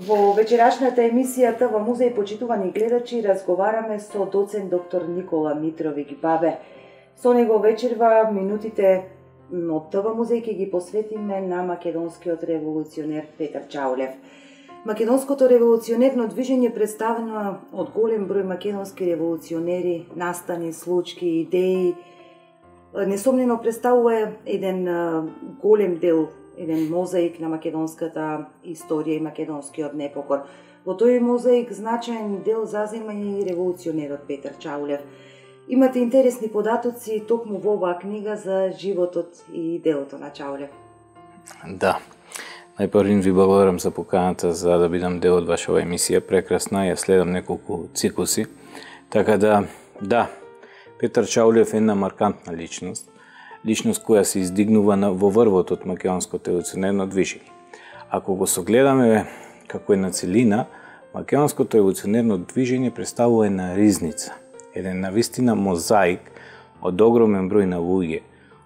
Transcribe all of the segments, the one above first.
Во вечерашната емисијата во Музеј почитувани гледачи разговараме со доцент доктор Никола Митровиќ Бабе. Со него вечерва минутите од ТВ Музеј ќе ги посветиме на македонскиот револуционер Петар Чаулев. Македонското револуционерно движење представено од голем број македонски револуционери, настани, случки, идеи, несомнено представува еден голем дел, еден мозаик на македонската историја и македонскиот непокор. Во тој мозаик значаен дел зазема и револуционерот Петар Чаулев. Имате интересни податоци токму во оваа книга за животот и делото на Чаулев. Да. Најпрвин ви благодарам за поканата за да бидам дел од вашава емисија. Прекрасна, ја следам неколку циклуси. Така да, Петар Чаулев е една маркантна личност. Личност која се издигнува во врвот од македонското револуционерно движење. Ако го согледаме како една целина, македонското револуционерно движење представува една ризница, еден навистина мозаик од огромен број на луѓе,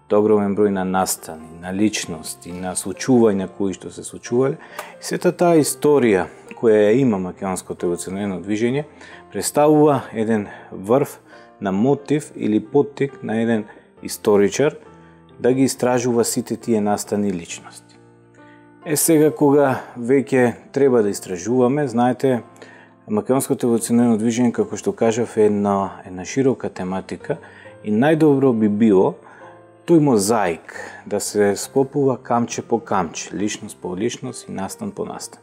од огромен број на настани, на личности, на случувања кои што се случувале. И сета таа историја која ја има македонското револуционерно движење представува еден врв на мотив или поттик на еден историчар да ги истражува сите тие настани личности. Сега кога веќе треба да истражуваме, знаете, македонското револуционерно движење, како што кажав, е една широка тематика и најдобро би било тој мозаик да се склопува камче по камче, личност по личност и настан по настан.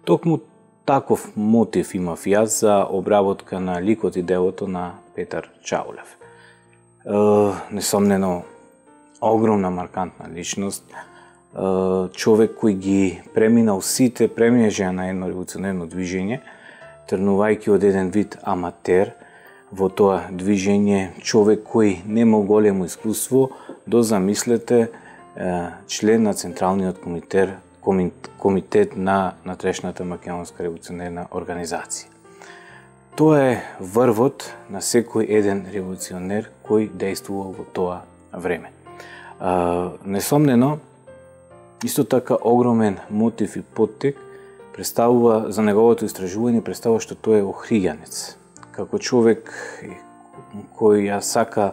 Токму таков мотив имав јас за обработка на ликот и делото на Петар Чаулев. Несомнено, огромна маркантна личност, човек кој ги преминал сите премежја на едно револуционерно движење, тргнувајќи од еден вид аматер во тоа движење, човек кој немал големо искуство, до замислете член на Централниот комитет на натрешната македонска револуционерна организација. Тоа е врвот на секој еден револуционер кој действувал во тоа време. Несомнено, исто така огромен мотив и поттик представува за неговото истражување, представува што тој е охриѓанец. Како човек кој ја сака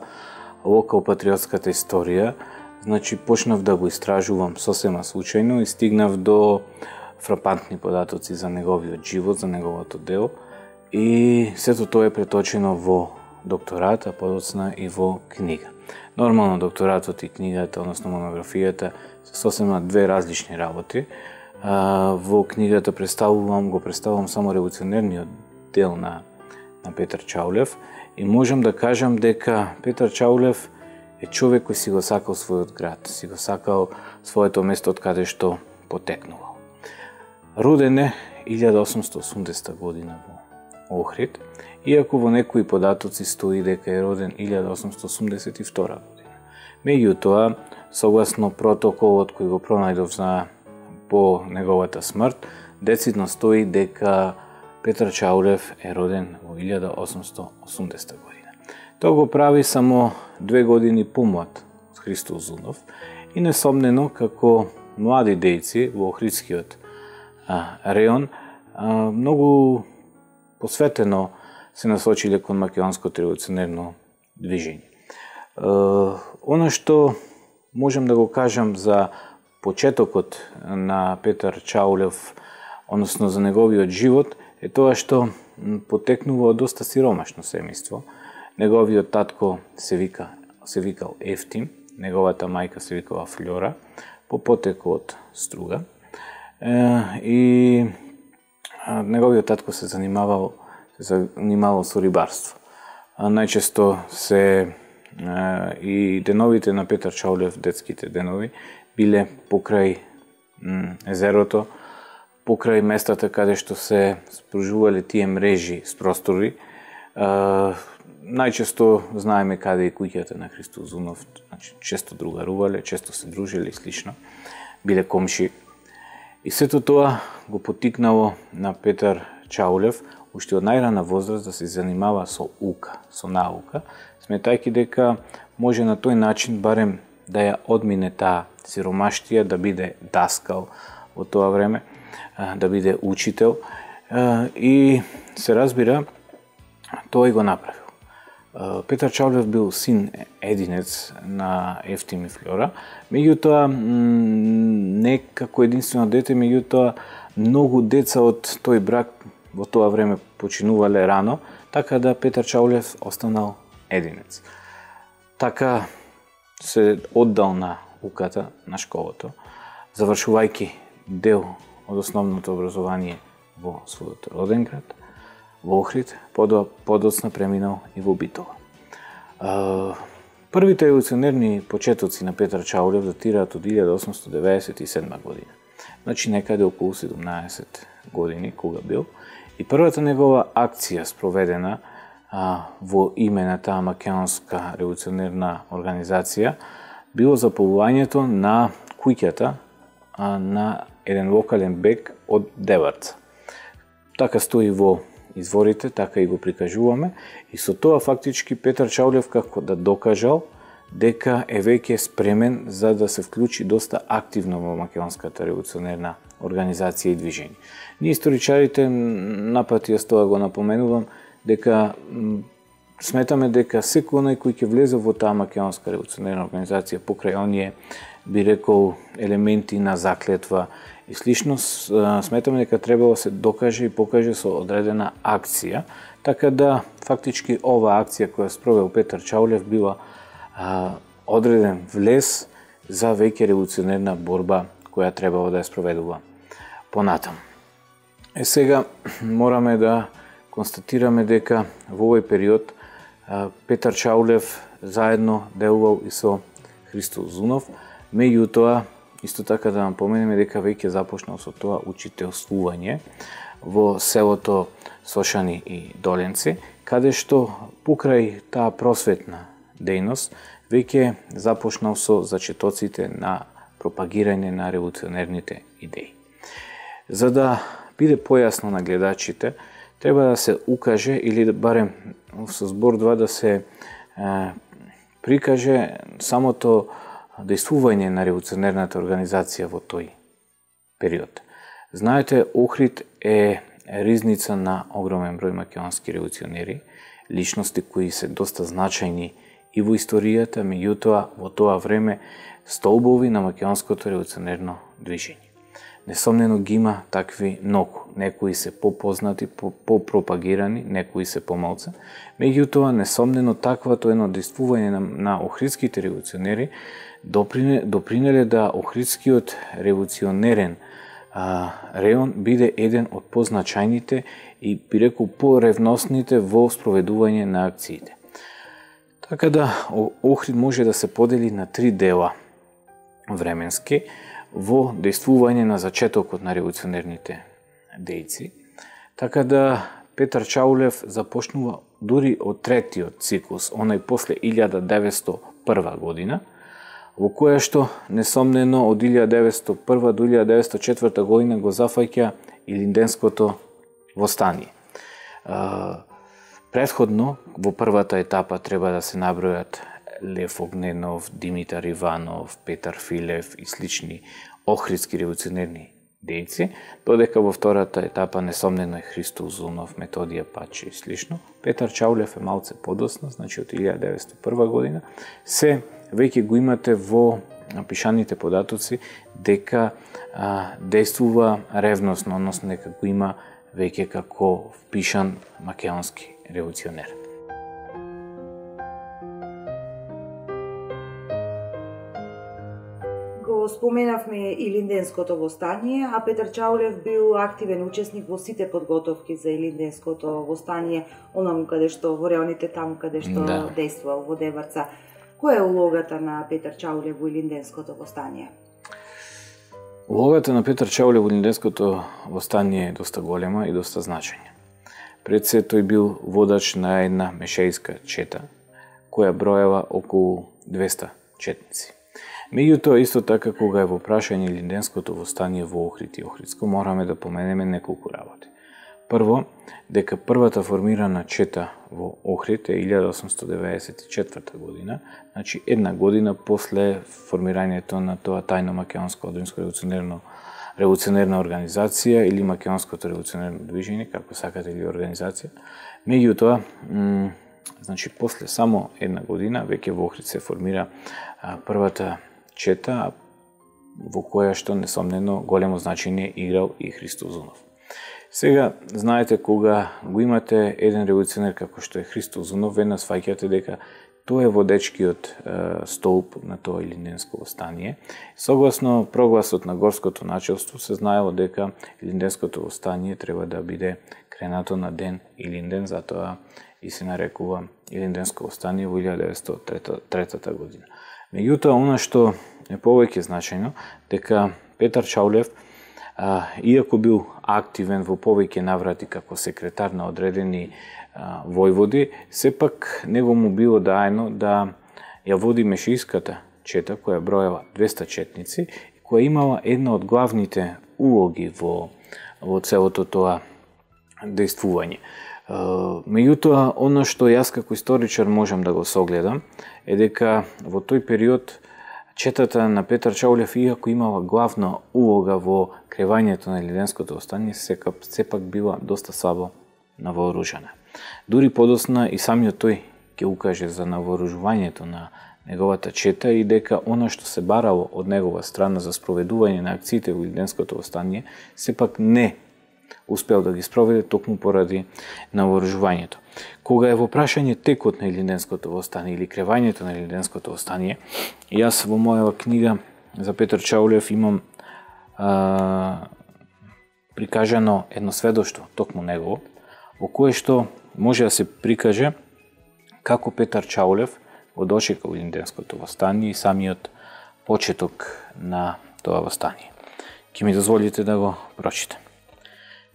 локал-патриотската историја, значи почнав да го истражувам сосема случајно и стигнав до фрапантни податоци за неговиот живот, за неговото дело, и сето тоа е преточено во докторат, а подоцна и во книга. Нормално докторатот и книгата, односно монографијата, се сосема две различни работи. Во книгата го представувам само револуционерниот дел на Петар Чаулев и можам да кажам дека Петар Чаулев е човек кој си го сакал својот град, си го сакал своето место од каде што потекнувал. Роден е 1880 година во Охрид, иако во некои податоци стои дека е роден 1882 година. Меѓутоа, согласно протоколот кој го пронајдов по неговата смрт, децидно стои дека Петар Чаулев е роден во 1880 година. Тоа го прави само 2 години помлад од Христо Узунов и несомнено како млади дејци во Охридскиот реон многу посветено се насочиле кон македонското револуционерно движење. Она што можам да го кажам за почетокот на Петар Чаулев, односно за неговиот живот, е тоа што потекнува од доста сиромашно семејство. Неговиот татко се викал Ефтим, неговата мајка се викала Флора, по потекло од Струга. И неговиот татко се занимавал со рибарство. Најчесто и деновите на Петар Чаулев, детските денови, биле покрај езерото, покрај местата каде што се спружувале тие мрежи с простори. Најчесто знаеме каде е куќата на Христо Узунов, значи често другарувале, често се дружеле и слично, биле комши. И сето тоа го потикнало на Петар Чаулев уште од најрана возраст да се занимава со ука, со наука, сметајќи дека може на тој начин барем да ја одмине таа сиромаштија, да биде даскал во тоа време. да биде учител и се разбира тој го направил. Петар Чаулев бил син единец на Евтим и Флора, меѓутоа не како единствено дете, меѓутоа многу деца од тој брак во тоа време починувале рано, така да Петар Чаулев останал единец. Така се оддал на уката на школото, завршувајќи дел од основното образование во својот роден град, во Охрид, подоцна преминал и во Битола. Првите револуционерни почетоци на Петар Чаулев датираат од 1897 година. Значи некаде околу 17 години кога бил. И првата негова акција спроведена во име на таа македонска револуционерна организација било заповувањето на куќата на еден локален бег од Деварца. Така стои во изворите, така и го прикажуваме, и со тоа фактички Петар Чаулев како да докажал дека е веќе спремен за да се вклучи доста активно во македонската револуционерна организација и движење. Ние историчарите напати јас тоа го напоменувам, дека сметаме дека секој оној кој ќе влезе во таа македонска револуционерна организација покрај оние, би рекол, елементи на заклетва и слично, сметаме дека требало да се докаже и покаже со одредена акција, така да фактички оваа акција која спровел Петар Чаулев била одреден влез за веќе револуционерна борба која требало да ја спроведува понатаму. Сега мораме да констатираме дека во овој период Петар Чаулев заедно делувал и со Христо Узунов, меѓутоа исто така да напоменеме дека веќе започнал со тоа учителствување во селото Сошани и Доленци, каде што покрај таа просветна дејност веќе започнал со зачетоците на пропагирање на револуционерните идеи. За да биде појасно на гледачите, треба да се укаже или барем со збор два да се прикаже самото дејствување на револуционерната организација во тој период. Знаете, Охрид е ризница на огромен број македонски револуционери, личности кои се доста значајни и во историјата, меѓутоа во тоа време столбови на македонското револуционерно движење. Несомнено ги има такви многу. Некои се попознати, попропагирани, некои се помалце. Меѓутоа, несомнено таквато едно дејствување на охридските револуционери допринеле да охридскиот револуционерен реон биде еден од позначајните и, би рекол, поревносните во спроведување на акциите. Така да, Охрид може да се подели на три дела временски во дејствување на зачетокот на револуционерните дејци. Така да, Петар Чаулев започнува дури од третиот циклус, онај после 1901 година, во која што, несомнено, од 1901 до 1904 година го зафаќа Илинденското востание. Претходно, во првата етапа треба да се набројат Лев Огненов, Димитар Иванов, Петар Филев и слични охридски револуционерни дејци, додека во втората етапа несомнено е Христо Узунов, Методија Паче и слично. Петар Чаулев е малце подоцна, значи од 1901 година, се веќе го имате во пишаните податоци дека действува ревносно, односно дека го има веќе како впишан македонски револуционер. Го споменавме Илинденското востание, а Петар Чаулев бил активен учесник во сите подготовки за Илинденското востание, онаму каде што во реоните таму каде што действувал во Деварца. Која е улогата на Петар Чаулев во Илинденското востание? Улогата на Петар Чаулев во Илинденското востание е доста голема и доста значајна. Пред се тој бил водач на една мешејска чета, која броева околу 200 четници. Меѓутоа, исто така, кога е во прашање Илинденското востание во Охрид и Охридско, мораме да поменеме неколку работи. Прво, дека првата формирана чета во Охрид е 1894 година, значи една година после формирањето на тоа тајно македонско одринско револуционерно револуционерна организација или македонското револуционерно движење, како сакате, или организација. Меѓутоа, значи после само една година веќе во Охрид се формира првата чета, во која што несомнено големо значење играл и Христо Узунов. Сега, знаете, кога го имате еден револуционер како што е Христо Узунов, веднаш сваќате дека тој е водечкиот столб на тоа илинденско востание. Согласно прогласот на горското начелство се знаело дека илинденското востание треба да биде кренато на ден Илинден, затоа и се нарекува Илинденско востание во 1903 година. Меѓутоа, она што е повеќе значајно, дека Петар Чаулев, иако бил активен во повеќе наврати како секретар на одредени војводи, сепак него му било даено да ја води мешијската чета, која бројала 200 четници и која имала една од главните улоги во целото тоа дејствување. Меѓутоа, оно што јас како историчар можам да го согледам е дека во тој период четата на Петар Чаулев, иако имала главна улога во кревањето на илинденското востание, сепак била доста слабо навооружена. Дури подосна и самиот тој ќе укаже за навооружувањето на неговата чета и дека она што се барало од негова страна за спроведување на акциите во илинденското востание, сепак не успел да ги спроведе токму поради навооружувањето. Кога е во прашање текот на илинденското востание или кревањето на илинденското востание, јас во мојава книга за Петар Чаулев имам прикажано едно сведоштво, токму негово, во кое што може да се прикаже како Петар Чаулев го дочекал илинденското востание и самиот почеток на тоа востание. Ќе ми дозволите да го прочитам.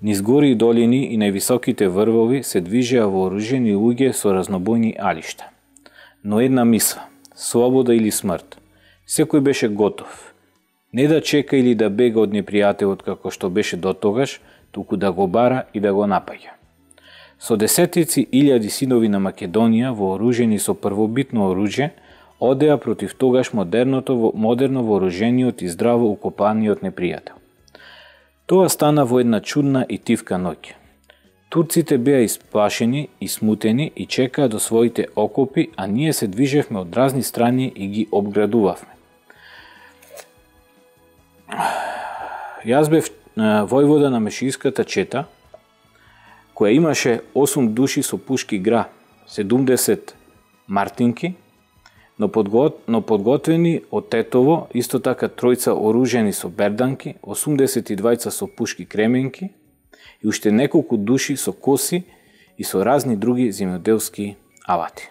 Низ гори и долини и највисоките врвови се движеа вооружени луѓе со разнобојни алишта. Но една мисла, слобода или смрт, секој беше готов. Не да чека или да бега од непријателот како што беше дотогаш, туку да го бара и да го напаѓа. Со десетици илјади синови на Македонија, вооружени со првобитно оружје, одеа против тогаш модерно вооружениот и здраво укопаниот непријател. Тоа стана во една чудна и тивка ноќ. Турците беа исплашени и смутени и чекаа до своите окопи, а ние се движевме од разни страни и ги обградувавме. Јас бев војвода на мешијската чета, која имаше 8 души со пушки гра, 70 мартинки, но подготвени од тетово, исто така тројца оружени со берданки, 82 со пушки кременки и уште неколку души со коси и со разни други земјоделски алати.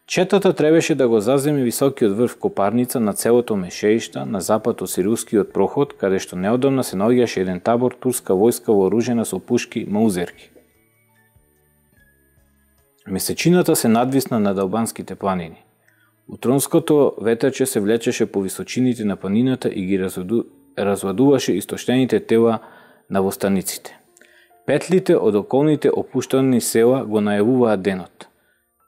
Четата требаше да го заземе високиот врв Копарница на целото мешеишта на запад од Сирускиот проход, каде што неодамна се наоѓаше еден табор турска војска вооружена со пушки маузерки. Месечината се надвисна над албанските планини. Утронското ветерче се влечеше по височините на планината и ги развладуваше истоштените тела на востаниците. Петлите од околните опуштени села го најавуваа денот.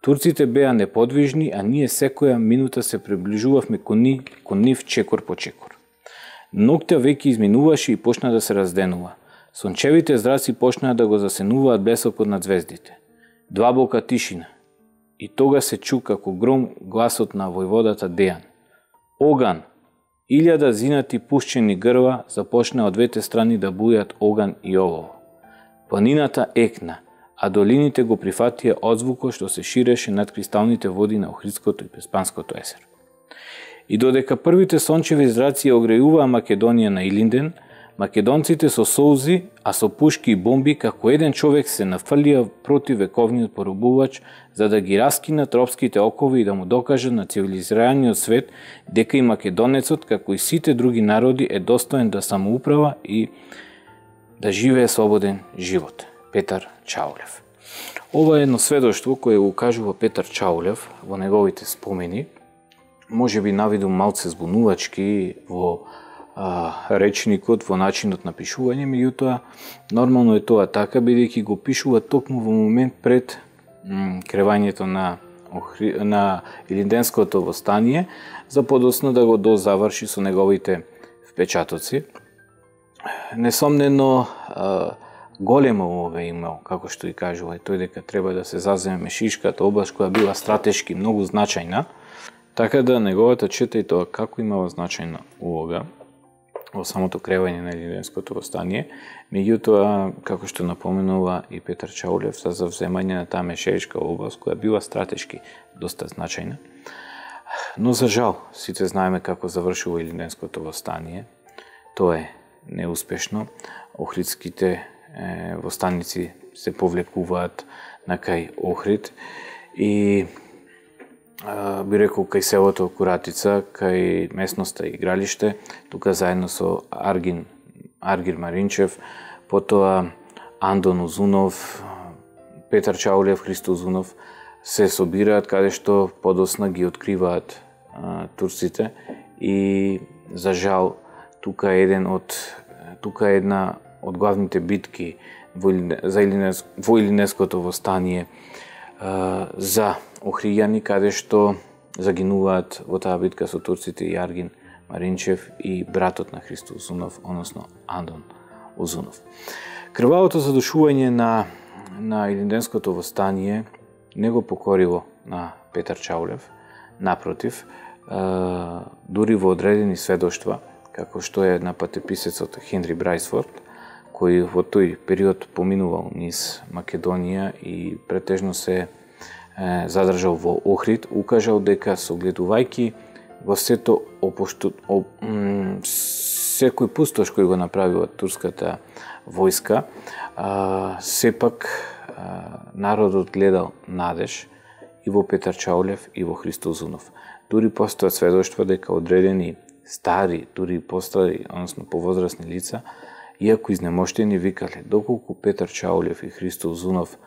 Турците беа неподвижни, а ние секоја минута се приближувавме кон нив чекор по чекор. Ноќта веќе изминуваше и почна да се разденува. Сончевите зраци почнаа да го засенуваат блесокот на звездите. Длабока тишина. И тога се чу како гром гласот на војводата Дејан. Оган! 1000 зинати пушчени грва започна од двете страни да бујат оган и олово. Планината екна, а долините го прифатија одзвукот што се ширеше над кристалните води на Охридското и Песпанското езеро. И додека првите сончеви зраци огрејуваа Македонија на Илинден, македонците со солзи, а со пушки и бомби, како еден човек се нафрлија против вековниот поробувач, за да ги раскинат робските окови и да му докажат на цивилизираниот свет дека и македонецот, како и сите други народи, е достоен да самоуправа и да живее слободен живот. Петар Чаулев. Ова е едно сведоштво кое го кажува Петар Чаулев во неговите спомени, може би навиду малце збунувачки во речникот, во начинот на пишување, меѓутоа нормално е тоа така, бидејќи го пишува токму во момент пред кревањето на Илинденското востание, за подоцна да го дозаврши со неговите впечатоци. несомнено голема улога имал, како што и кажува, тој дека треба да се заземе Шишката област која била стратешки многу значајна, така да неговата чета и тоа како имала значајна улога во самото кревање на Илинденското востание, меѓутоа, како што напоменува и Петар Чаулев, за завземање на таа Мешеечка област која била стратешки доста значајна. Но за жал, сите знаеме како завршува Илинденското востание. Тоа е неуспешно. Охридските востаници се повлекуваат на кај Охрид и би рекол кај селото Куратица, кај местноста Игралиште, тука заедно со Аргир Маринчев, потоа Андон Узунов, Петар Чаулев, Христо Узунов се собираат каде што подосна ги откриваат турците и за жал тука е една од главните битки во Илинденското востание за охријани, каде што загинуваат во таа битка со турците и Аргин Маринчев и братот на Христо Узунов, односно Андон Узунов. Крвавото задушување на Илинденското востание не го покорило на Петар Чаулев, напротив, дури во одредени сведоштва, како што е на патеписецот Хенри Брайсфорд, кој во тој период поминувал низ Македонија и претежно се задржал во Охрид, укажал дека согледувајќи во сето секој пустош кој го направила турската војска, сепак народот гледал надеж и во Петар Чаулев и во Христо Узунов. Дури постојат сведоштва дека одредени стари, дури постари, односно повозрасни лица, иако изнемоштени, викале доколку Петар Чаулев и Христо Узунов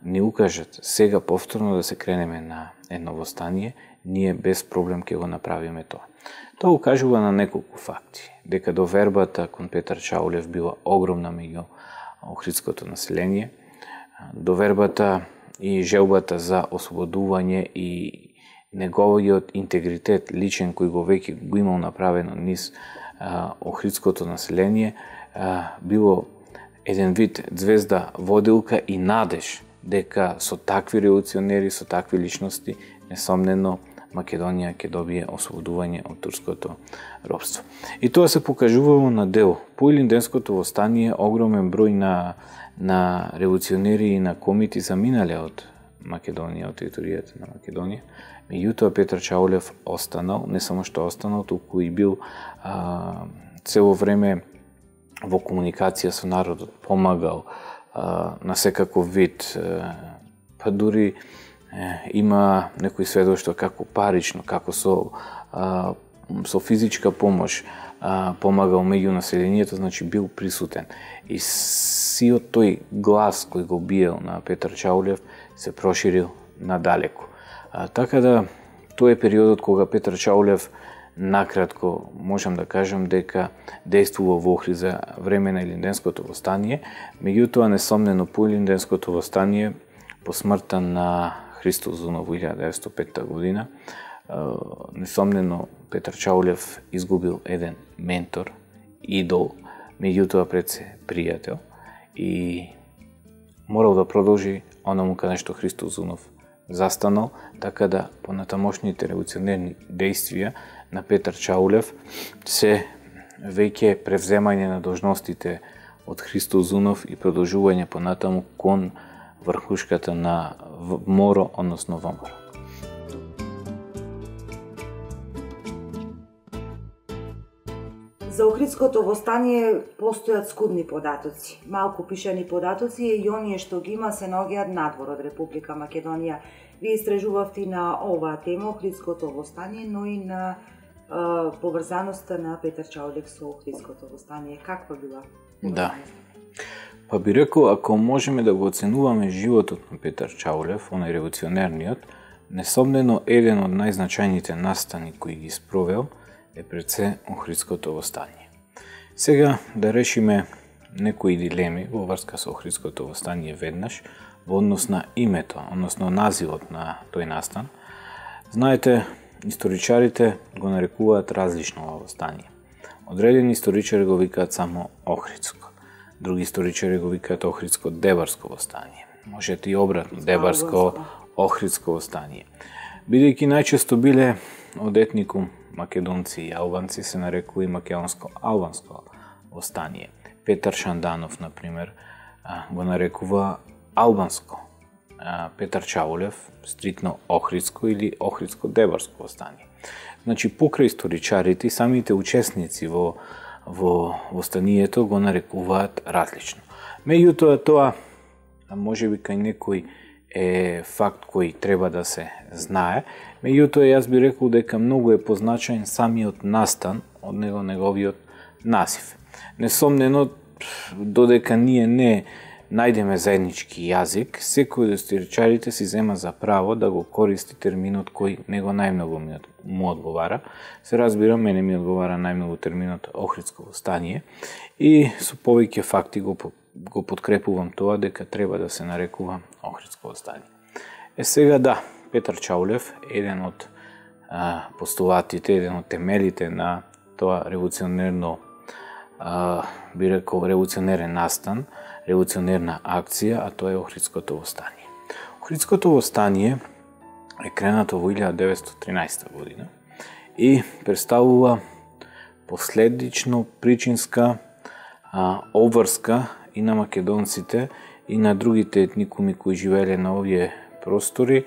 ни укажат сега повторно да се кренеме на едно востание, ние без проблем ќе го направиме тоа. Тоа укажува на неколку факти, дека довербата кон Петар Чаулев била огромна меѓу охридското население, довербата и желбата за ослободување и неговиот интегритет личен кој го веќе го имал направено низ охридското население, било еден вид звезда водилка и надеж дека со такви револуционери, со такви личности, несомнено Македонија ќе добие ослободување од турското робство. И тоа се покажувало на дело. По Илинденското востание огромен број на револуционери и на комити заминале од Македонија, од територијата на Македонија. Меѓутоа Петар Чаулев останал, не само што останал, туку и бил цело време во комуникација со народот, помагал на секаков вид, па дури има некои сведоштва како парично, како со физичка помош помагал меѓу населението, значи бил присутен. И сиот тој глас кој го биел на Петар Чаулев се проширил надалеку. Така да, тој е периодот кога Петар Чаулев, накратко можам да кажам дека действува во Охрид за време на Илинденското востание, меѓутоа несомнено по Илинденското востание, по смртта на Христо Узунов во 1905 година, несомнено Петар Чаулев изгубил еден ментор, идол, меѓутоа пред се пријател и морал да продолжи онаму каде што Христо Узунов застанал, така да понатамошните револуционерни действија на Петар Чаулев се веќе превземање на должностите од Христо Узунов и продолжување понатаму кон врхушката на МОРО, односно ВМРО. За Охридското востание постојат скудни податоци. Малку пишани податоци и оние што ги има се наоѓаат надвор од Република Македонија. Вие истражувавте на оваа тема Охридското востание, но и на поврзаноста на Петар Чаулев со Охридското востание. Каква била? Да. Па би рекол, ако можеме да го оценуваме животот на Петар Чаулев, онај револуционерниот, несомнено еден од најзначајните настани кои ги спровел е пред се Охридското востание. Сега да решиме некои дилеми во врска со Охридското востание веднаш во однос на името, односно називот на тој настан. Знаете, историчарите го нарекуваат различно ова востание. Одредени историчари го викаат само Охридско. Други историчари го викаат Охридско-Дебарско востание. Можете и обратно, Дебарско-Охридско востание. Бидејќи најчесто биле од етникум македонци и албанци, се нарекува и македонско-албанско востание. Петар Шанданов, например, го нарекува албанско. Петар Чаулев, стритно Охридско или Охридско-Дебарско востание. Значи, покрај историчарите и самите учесници во востанието го нарекуваат различно. Меѓутоа, тоа можеби кај некој е факт кој треба да се знае. Меѓутоа, јас би рекол дека многу е позначаен самиот настан од неговиот насив. Несомнено, додека ние не најдеме заеднички јазик, секој од историчарите си зема за право да го користи терминот кој него најмногу му одговара. Се разбира, мене ми одговара најмногу терминот Охридско востание и со повеќе факти го подкрепувам тоа дека треба да се нарекува Охридско востание. Сега да, Петар Чаулев, еден од постулатите, еден од темелите на тоа револуционерно, би рекол, револуционерен настан, револуционерна акција, а тоа е Охридското востание. Охридското востание е кренато во 1913 година и представува последично причинска обврска и на македонците и на другите етникуми кои живееле на овие простори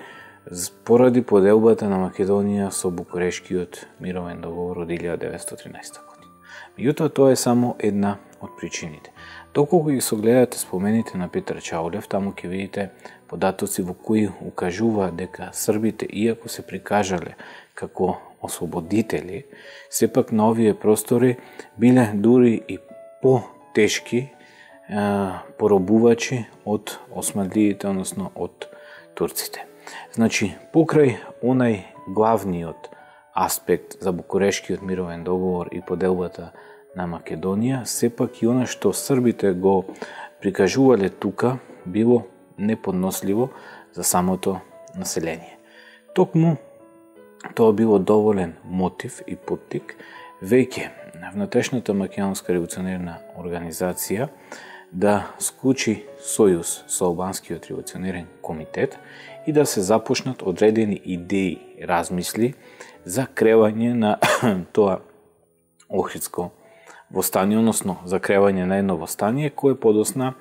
поради поделбата на Македонија со Букурешкиот мировен договор од 1913 година. Меѓутоа, тоа е само една од причините. Доколку ги согледате спомените на Петар Чаулев, таму ќе видите податоци во кои укажува дека србите, иако се прикажале како ослободители, сепак на овие простори биле дури и по-тешки поробувачи од османлиите, односно од турците. Значи, покрај онај главниот аспект за Букурешкиот мировен договор и поделбата на Македонија, сепак и она што србите го прикажувале тука било неподносливо за самото население. Токму тоа било доволен мотив и поттик веќе внатрешната македонска револуционерна организација да склучи сојуз со албанскиот револуционерен комитет и да се започнат одредени идеи, размисли за кревање на тоа Охридско востание, односно за кревање на едно востание кое подосна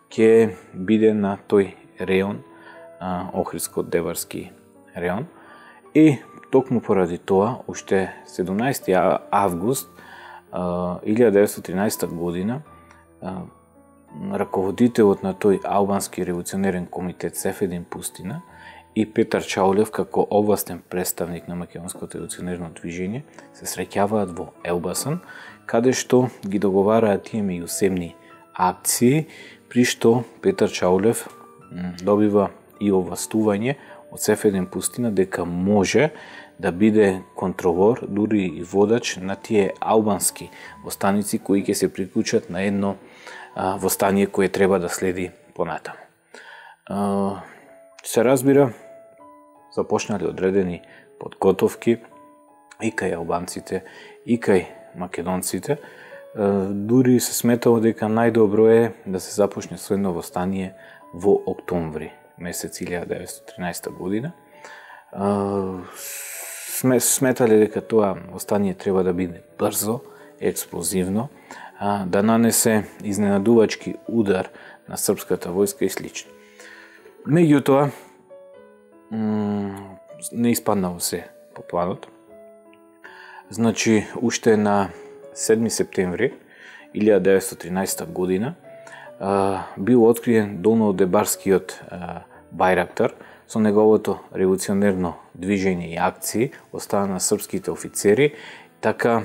ќе биде на тој реон, Охридско-Дебарски реон. И токму поради тоа, уште 17 август 1913 година, раководителот на тој албански револуционерен комитет Сефедин Пустина и Петар Чаулев како овластен представник на македонското револуционерно движење се среќаваат во Елбасан, каде што ги договараат тие меѓусебни акции, при што Петар Чаулев добива и овластување од Сефедин Пустина дека може да биде контролор, дури и водач на тие албански востаници кои ќе се приклучат на едно востание кое треба да следи понатаму. Се разбира, започнале одредени подготовки и кај албанците, и кај македонците. Дури се сметало дека најдобро е да се започне со едно востание во октомври месец 1913 година. Сметале дека тоа востание треба да биде брзо, експлозивно, да нанесе изненадувачки удар на српската војска и слично. Меѓутоа, не испаднало се по планот. Значи, уште на 7 септември 1913 година бил откриен Долнодебарскиот Бајрактар со неговото револуционерно движење и акции од страна на српските офицери. Така,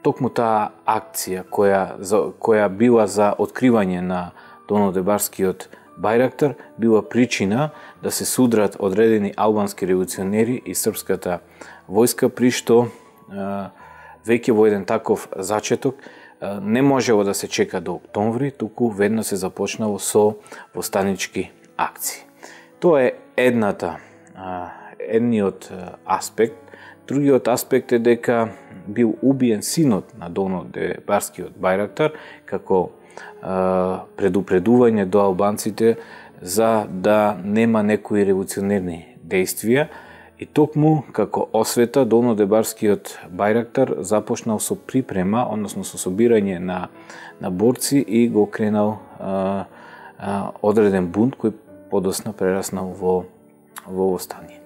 токму таа акција која била за откривање на Долнодебарскиот Бајрактар била причина да се судрат одредени албански револуционери и српската војска, при што веќе во еден таков зачеток не можело да се чека до октомври, туку ведно се започнало со востанички акции. Тоа е едниот аспект Другиот аспект е дека бил убиен синот на долнодебарскиот Бајрактар како предупредување до албанците за да нема некои револуционерни действија. И токму како освета долнодебарскиот Бајрактар започнал со припрема, односно со собирање на борци и го кренал одреден бунт кој подосна прераснал во востание.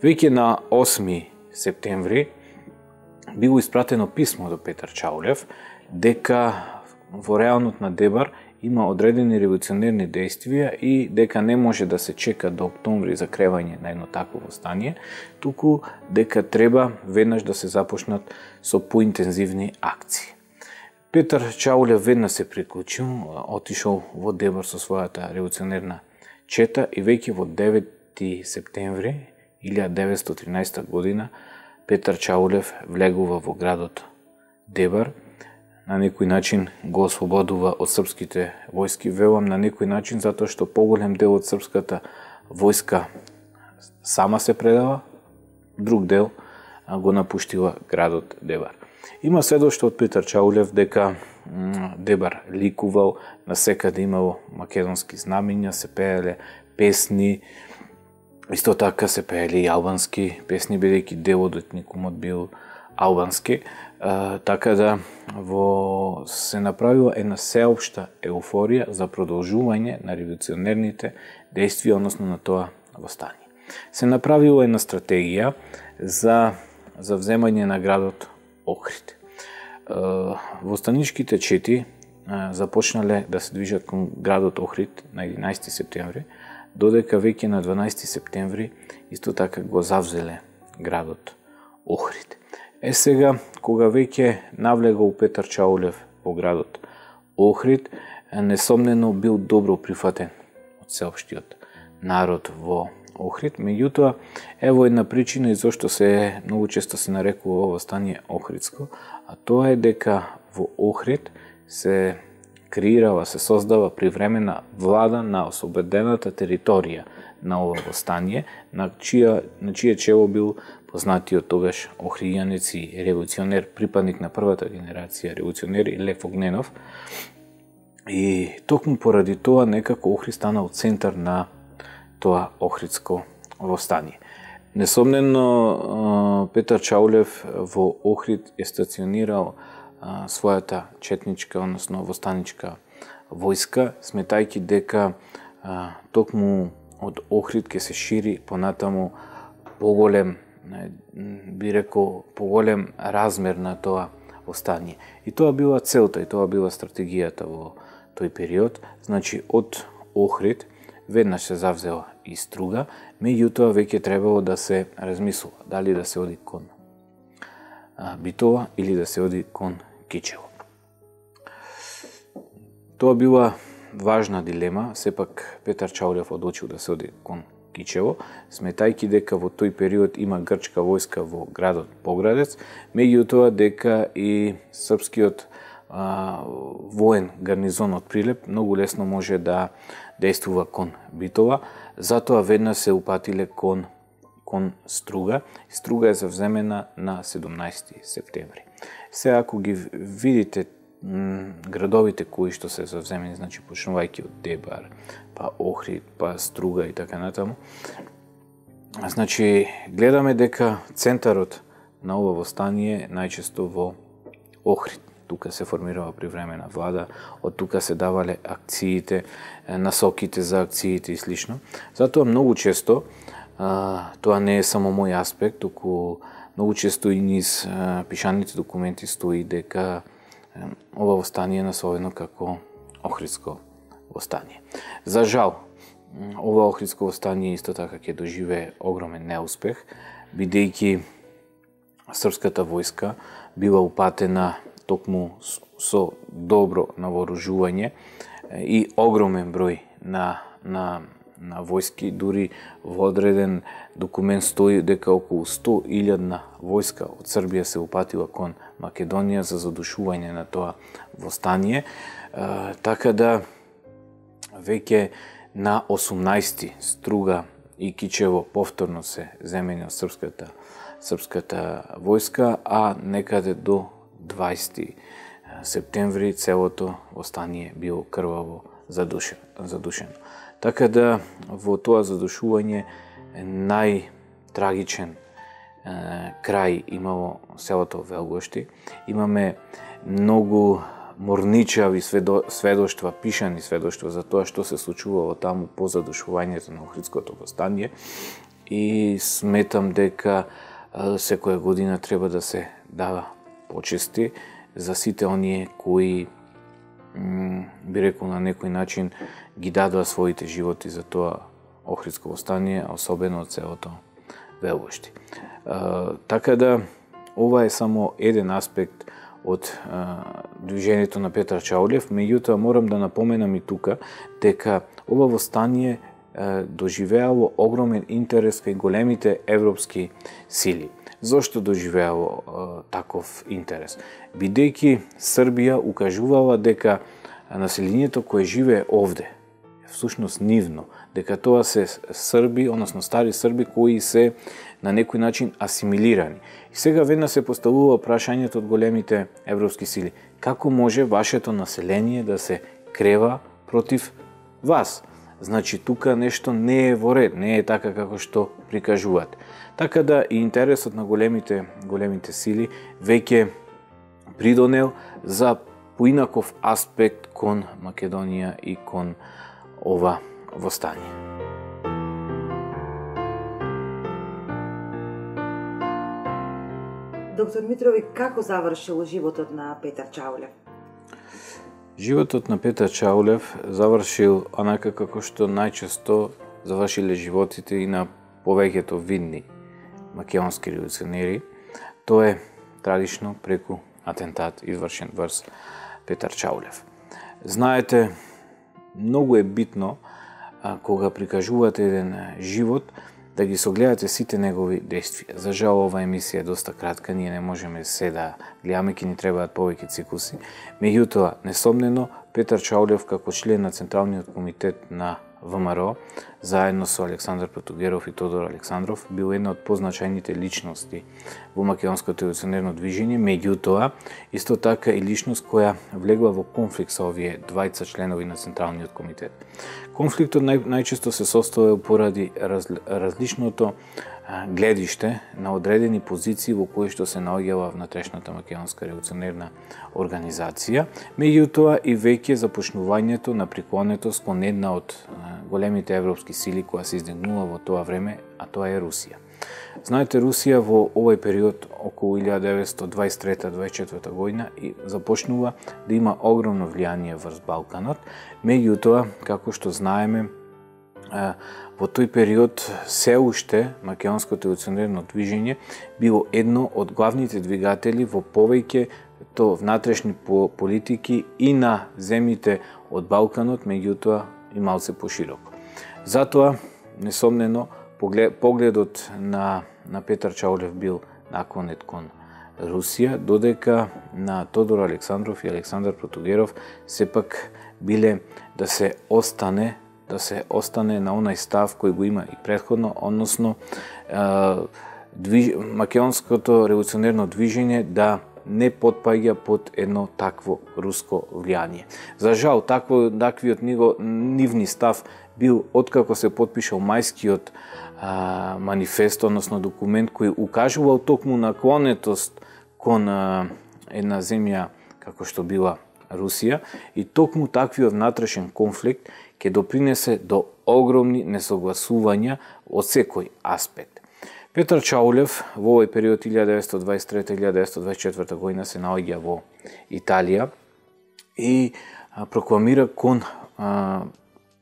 Веќе на 8 септември било испратено писмо до Петар Чаулев дека во реалнот на Дебар има одредени револуционерни действија и дека не може да се чека до октомври за кревање на едно такво востание, туку дека треба веднаш да се започнат со поинтензивни акции. Петар Чаулев веднаш се приклучил, отишол во Дебар со својата револуционерна чета и веќе во 9 септември 1913 година Петар Чаулев влегува во градот Дебар. На некој начин го ослободува од српските војски, велам на некој начин затоа што поголем дел од српската војска сама се предава, друг дел го напуштила градот Дебар. Има сведоштво од Петар Чаулев дека Дебар ликувал, насекаде имало македонски знамења, се пееле песни, исто така се пееле и албански песни, бидејќи дел од етникумот бил албански, така да се направила една сеопшта еуфорија за продолжување на револуционерните действија, односно на тоа востание. Се направила една стратегија за вземање на градот Охрид. Востаничките чети започнале да се движат кон градот Охрид на 11 септември, додека веќе на 12 септември исто така го завзеле градот Охрид. Сега, кога веќе навлегол Петар Чаулев во градот Охрид, несомнено бил добро прифатен од сеопштиот народ во Охрид. Меѓутоа, ево една причина и зошто многу често се нарекува ова стание Охридско, а тоа е дека во Охрид се креирала, се создава привремена влада на ослободената територија на ова востание, на чие чело бил познатиот тогаш охријанец и револуционер, припадник на првата генерација револуционери Лев Огненов. И токму поради тоа некако Охрид станал центар на тоа Охридско востание. Несомнено, Петар Чаулев во Охрид е стационирал својата четничка, односно востаничка војска, сметајќи дека токму од Охрид ќе се шири понатаму поголем, би рекол, поголем размер на тоа востание. И тоа била целта, и тоа била стратегијата во тој период. Значи, од Охрид веднаш се завзела и Струга, меѓутоа веќе требало да се размислува дали да се оди кон Битола или да се оди кон Кичево. Тоа била важна дилема, сепак Петар Чаулев одлучил да се оди кон Кичево, сметајќи дека во тој период има грчка војска во градот Поградец, меѓутоа дека и српскиот воен гарнизон од Прилеп многу лесно може да действува кон Битола, затоа веднаш се упатиле кон Струга. Струга е завземена на 17 септември. Сега, ако ги видите градовите кои што се завземени, значи почнувајќи од Дебар, па Охрид, па Струга и така натаму, значи гледаме дека центарот на ова востание најчесто во Охрид. Тука се формирала привремена влада, од тука се давале акциите, насоките за акциите и слично. Затоа многу често, тоа не е само мој аспект, туку многу често и низ пишаните документи стои дека ова востание е насловено како Охридско востание. За жал, ова Охридско востание исто така ќе доживее огромен неуспех, бидејќи српската војска била упатена токму со добро навооружување и огромен број на војски, дури во одреден документ стои дека околу 100.000 војска од Србија се упатила кон Македонија за задушување на тоа востание, така да веќе на 18 Струга и Кичево повторно се земени од српската војска, а некаде до 20 септември целото востание било крваво задушено. Така да во тоа задушување најтрагичен крај имало селото Велгошти. Имаме многу морничави сведоштва, пишани сведоштва за тоа што се случувало таму по задушувањето на Охридското востание и сметам дека секоја година треба да се дава почести за сите оние кои би рекол на некој начин ги дадоа своите животи за тоа Охридско востание, а особено од селото Велгошти. Така да ова е само еден аспект од движењето на Петар Чаулев, меѓутоа морам да напоменам и тука дека ова востание доживеало огромен интерес кај големите европски сили. Зошто доживеало таков интерес? Бидејќи Србија укажувала дека населението кое живее овде, всушност нивно, дека тоа се срби, односно стари срби кои се на некој начин асимилирани. И сега веднаш се поставува прашањето од големите европски сили. Како може вашето население да се крева против вас? Значи, тука нешто не е во ред, не е така како што прикажуваат. Така да и интересот на големите сили веќе придонел за поинаков аспект кон Македонија и кон ова востание. Доктор Митрови, како завршил животот на Петар Чаулев? Животот на Петар Чаулев завршил онака како што најчесто завршиле животите и на повеќето видни македонски револуционери. Тоа е трагично преку атентат извршен врз Петар Чаулев. Знаете, многу е битно кога прикажувате еден живот да ги согледате сите негови действија. За жал, ова емисија е доста кратка, ние не можеме се да гледаме, ки ни требаат повеќе цикуси. Меѓутоа, несомнено, Петар Чаулев како член на Централниот комитет на ВМРО, заедно со Александар Протугеров и Тодор Александров, бил една од позначајните личности во македонското револуционерно движење, меѓутоа, исто така и личност која влегла во конфликт со овие двајца членови на Централниот комитет. Конфликтот најчесто се состоел поради различното гледиште на одредени позиции во кои што се наоѓала внатрешната македонска револуционерна организација, меѓутоа и веќе започнувањето на преклонетост кон една од големите европски сили која се издигнува во тоа време, а тоа е Русија. Знаете, Русија во овој период, околу 1923-24 година, започнува да има огромно влијание врз Балканот, меѓутоа, како што знаеме, во тој период се уште македонското револуционерно движење било едно од главните двигатели во повеќето внатрешни политики и на земјите од Балканот, меѓутоа и малце пошироко. Затоа, несомнено, погледот на Петар Чаулев бил наклонет кон Русија, додека на Тодор Александров и Александар Протугеров сепак биле да се остане на онај став кој го има и претходно, односно македонското револуционерно движење да не потпаѓа под едно такво руско влијание. За жал, таквиот нивни став бил откако се потпишал мајскиот манифест, односно документ кој укажувал токму наклонетост кон една земја како што била Русија, и токму таквиот внатрешен конфликт ќе допринесе до огромни несогласувања од секој аспект. Петар Чаулев во овој период 1923-1924 година се наоѓа во Италија и прокламира кон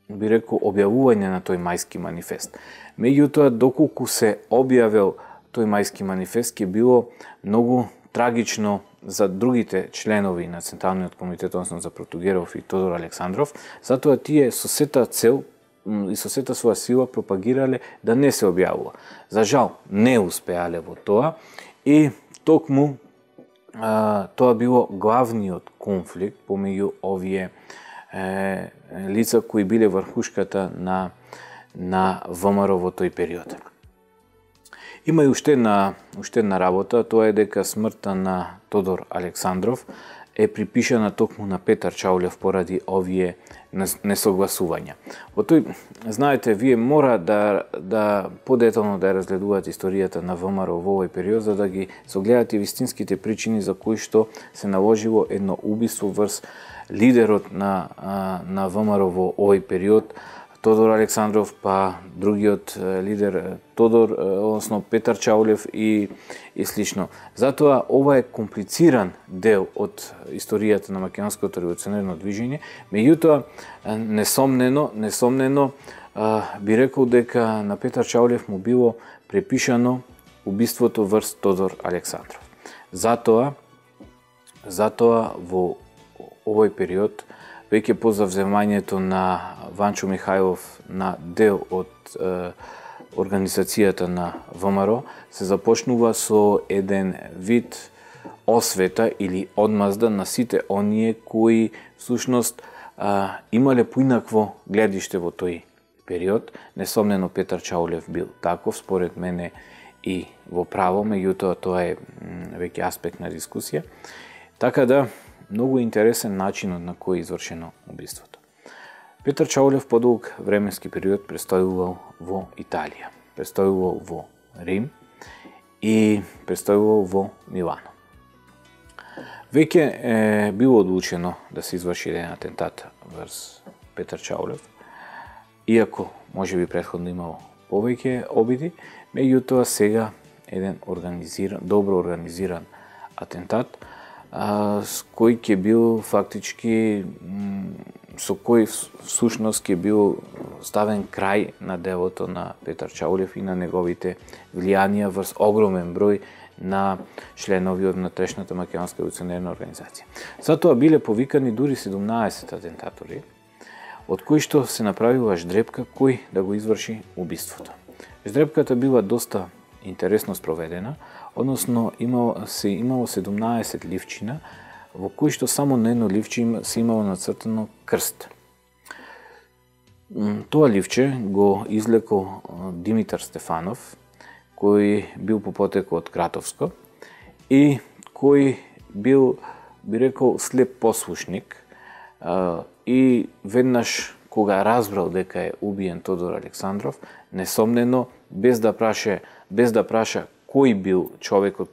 би рекол објавување на тој мајски манифест. Меѓутоа, доколку се објавил тој мајски манифест, ќе било многу трагично за другите членови на Централниот комитет, односно за Протугеров и Тодор Александров, затоа тие со сета цел и со сета своја сила пропагирале да не се објавува. За жал, не успеале во тоа и токму тоа било главниот конфликт помеѓу овие лица кои биле врхушката на ВМРО во тој период. Има и уште една работа, тоа е дека смртта на Тодор Александров е припишана токму на Петар Чаулев поради овие несогласувања. Во тој, знаете, вие мора да подетално да разгледувате историјата на ВМРО во овој период, за да ги согледате вистинските причини за кои што се наложило едно убиство врз лидерот на ВМРО во овој период, Тодор Александров, па другиот лидер Тодор, односно Петар Чаулев и слично. Затоа ова е комплициран дел од историјата на македонското револуционерно движење, меѓутоа несомнено би рекол дека на Петар Чаулев му било препишано убиството врз Тодор Александров. Затоа во овој период, веќе по завземањето на Ванчо Михајлов на дел од организацијата на ВМРО, се започнува со еден вид освета или одмазда на сите оние кои всушност имале поинакво гледиште во тој период. Несомнено Петар Чаулев бил таков, според мене и во право, меѓутоа тоа е веќе аспект на дискусија. Така да, многу интересен начинот на кој е извршено убиството. Петар Чаулев подолг временски период престојувал во Италија, престојувал во Рим и престојувал во Милано. Веќе е било одлучено да се изврши еден атентат врз Петар Чаулев, иако можеби претходно имало повеќе обиди, меѓутоа сега еден добро организиран атентат, с кој ќе бил фактички, со кој всушност ќе бил ставен крај на делото на Петар Чаулев и на неговите влијанија врз огромен број на членови од внатрешната македонска револуционерна организација. Затоа биле повикани дури 17 атентатори, од кои што се направила ждрепка кој да го изврши убиството. Ждрепката била доста интересно спроведена, односно имало 17 ливчина, во кои што само на едно ливче се имало нацртано крст. Тоа ливче го излекол Димитар Стефанов, кој бил по потекло од Кратовско и кој бил, би рекол, слеп послушник, и веднаш кога разбрал дека е убиен Тодор Александров, несомнено, без да праша кој бил човекот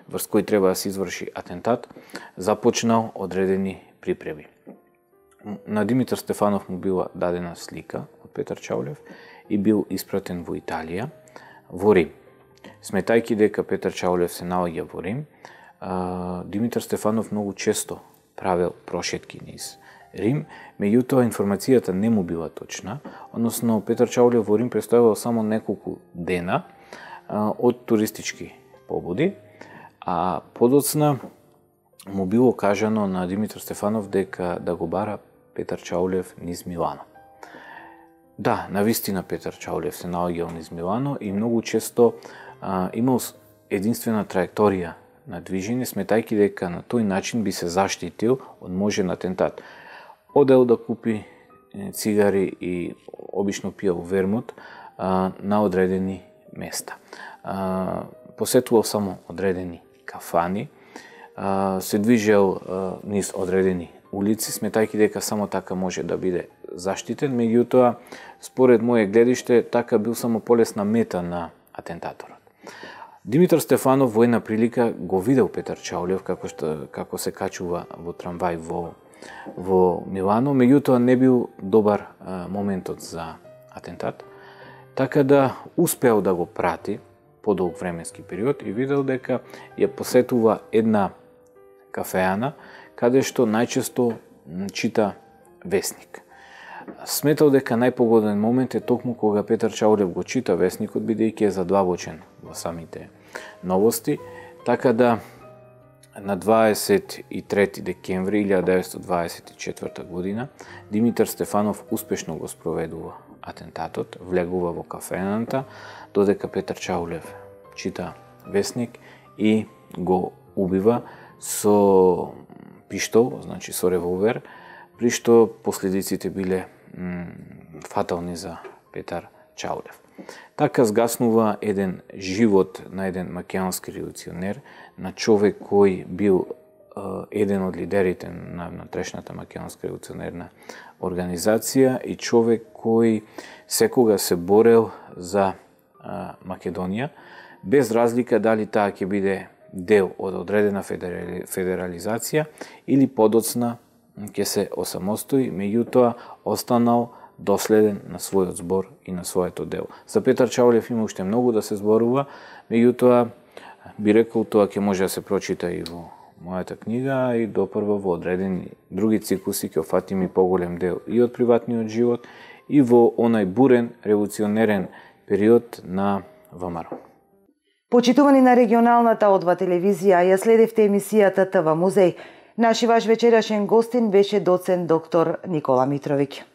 врз кој треба да се изврши атентат, започнал одредени припреби. На Димитар Стефанов му била дадена слика од Петар Чаулев и бил испратен во Италија, во Рим. Сметајќи дека Петар Чаулев се наоѓа во Рим, Димитар Стефанов многу често правел прошетки низ Рим, меѓутоа информацијата не му била точна, односно Петар Чаулев во Рим престојавал само неколку дена од туристички побуди, а подоцна му било кажано на Димитар Стефанов дека да го бара Петар Чаулев низ Милано. Да, навистина Петар Чаулев се наоѓал низ Милано и многу често имал единствена траекторија на движење, сметајќи дека на тој начин би се заштитил од можен атентат. Одел да купи цигари и обично пиел вермут на одредени места. Посетувал само одредени кафани, се движел низ одредени улици, сметајќи дека само така може да биде заштитен, меѓутоа, според моје гледиште, така бил само полесна мета на атентаторот. Димитар Стефанов во една прилика го видел Петар Чаулев како се качува во трамвај во Милано, меѓутоа не бил добар моментот за атентат, така да успеал да го прати подолг временски период и видел дека ја посетува една кафеана, каде што најчесто чита весник. Сметал дека најпогоден момент е токму кога Петар Чаулев го чита весникот, бидејќи е задлабочен во самите новости, така да на 23 декември 1924 година Димитар Стефанов успешно го спроведува атентатот, влегува во кафената, додека Петар Чаулев чита весник и го убива со пиштол, значи со револвер, при што последиците биле фатални за Петар Чаулев. Така згаснува еден живот на еден македонски револуционер, на човек кој бил еден од лидерите на внатрешната македонска револуционерна организација и човек кој секога се борел за Македонија, без разлика дали таа ќе биде дел од одредена федерализација или подоцна ќе се осамостои, меѓутоа останал доследен на својот збор и на своето дело. За Петар Чаулев има уште многу да се зборува, меѓутоа би рекол тоа ќе може да се прочита и во мојата книга и допрва во одредени други циклуси ќе офатиме поголем дел и од приватниот живот и во онај бурен револуционерен период на ВМРО. Почитувани на регионалната Одва телевизија, ја следевте емисијата ТВ Музеј. Наши ваш вечерашен гостин беше доцент доктор Никола Митровиќ.